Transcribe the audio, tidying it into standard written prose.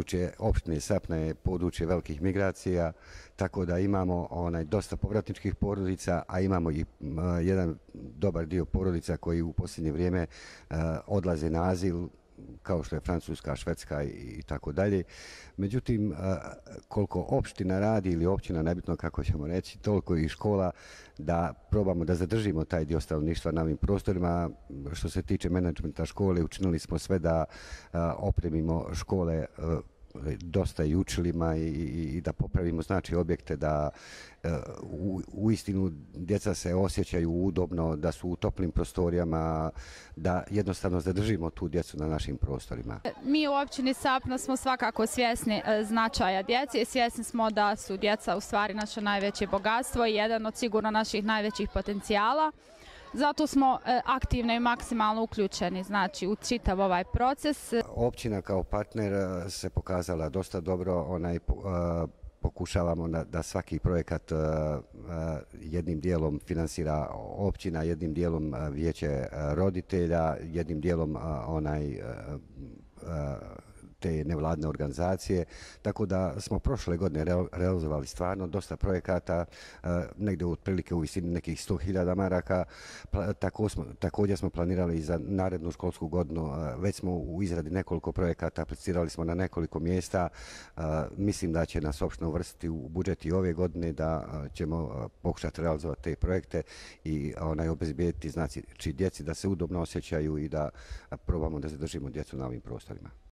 područje opštine Sapna je područje velikih migracija, tako da imamo dosta povratničkih porodica, a imamo i jedan dobar dio porodica koji u posljednje vrijeme odlaze na azil, kao što je Francuska, Švedska i tako dalje. Međutim, koliko opština radi ili općina, nebitno kako ćemo reći, toliko i škola da probamo da zadržimo taj dio stanovništva na ovim prostorima. Što se tiče menadžmenta škole, učinili smo sve da opremimo škole dosta i učilima i da popravimo objekte, da uistinu djeca se osjećaju udobno, da su u toplim prostorijama, da jednostavno zadržimo tu djecu na našim prostorima. Mi u općini Sapna smo svakako svjesni značaja djece i svjesni smo da su djeca u stvari naše najveće bogatstvo i jedan od sigurno naših najvećih potencijala. Zato smo aktivno i maksimalno uključeni u čitav ovaj proces. Općina kao partner se pokazala dosta dobro, pokušavamo da svaki projekat jednim dijelom finansira općina, jednim dijelom vijeće roditelja, jednim dijelom te nevladne organizacije, tako da smo prošle godine realizovali stvarno dosta projekata, negdje otprilike u visini nekih 100.000 maraka. Također smo planirali i za narednu školsku godinu, već smo u izradi nekoliko projekata, aplicirali smo na nekoliko mjesta. Mislim da će nas opština uvrstiti u budžet i ove godine, da ćemo pokušati realizovati te projekte i obezbijediti djeci da se udobno osjećaju i da probamo da zadržimo djecu na ovim prostorima.